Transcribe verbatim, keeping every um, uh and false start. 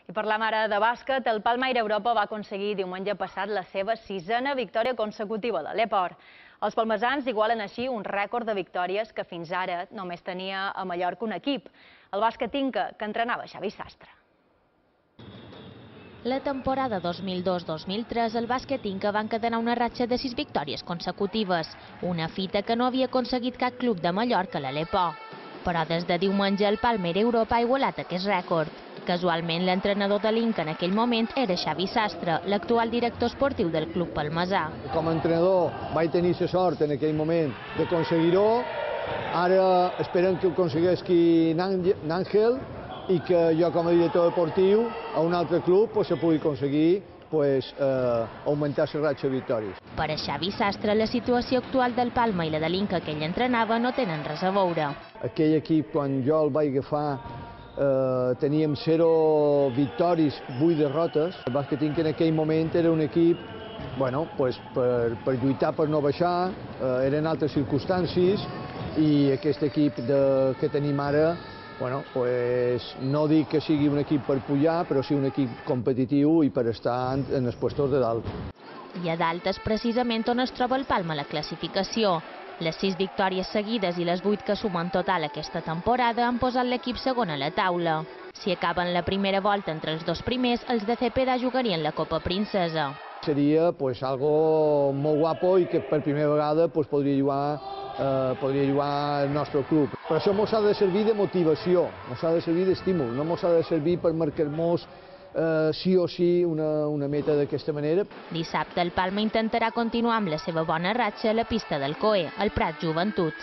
I parlam ara de bàsquet, el Palma Europa va aconseguir diumenge passat la seva sisena victòria consecutiva a l'Aleport. Els palmesans igualen així un rècord de victòries que fins ara només tenia a Mallorca un equip, el bàsquet Inca, que entrenava Xavi Sastre. La temporada dos mil dos dos mil tres el bàsquet Inca va encadenar una ratxa de sis victòries consecutives, una fita que no havia aconseguit cap club de Mallorca a l'Aleport. Però des de diumenge el Palma Europa ha igualat aquest rècord. Casualment, l'entrenador de l'Inca en aquell moment era Xavi Sastre, l'actual director esportiu del club palmesà. Com a entrenador vaig tenir la sort en aquell moment d'aconseguir-ho. Ara esperem que ho aconsegueixi n'Àngel i que jo com a director esportiu a un altre club se pugui aconseguir augmentar la ratxa de victòries. Per a Xavi Sastre, la situació actual del Palma i la de l'Inca que ell entrenava no tenen res a veure. Aquell equip, quan jo el vaig agafar, teníem zero victòries, vuit derrotes. El bàsquet Inca en aquell moment era un equip per lluitar per no baixar, eren altres circumstàncies i aquest equip que tenim ara, no dic que sigui un equip per pujar, però sí un equip competitiu i per estar en els puestos de dalt. I a dalt és precisament on es troba el Palma a la classificació. Les sis victòries seguides i les vuit que sumen total aquesta temporada han posat l'equip segon a la taula. Si acaben la primera volta entre els dos primers, els de Cepeda jugarien la Copa Princesa. Seria algo molt guapo i que per primera vegada podria jugar podria jugar el nostre club. Per això ens ha de servir de motivació, ens ha de servir d'estímul, no ens ha de servir per marcar-nos sí o sí una meta d'aquesta manera. Dissabte el Palma intentarà continuar amb la seva bona ratxa a la pista del C O E, al Prat Joventut.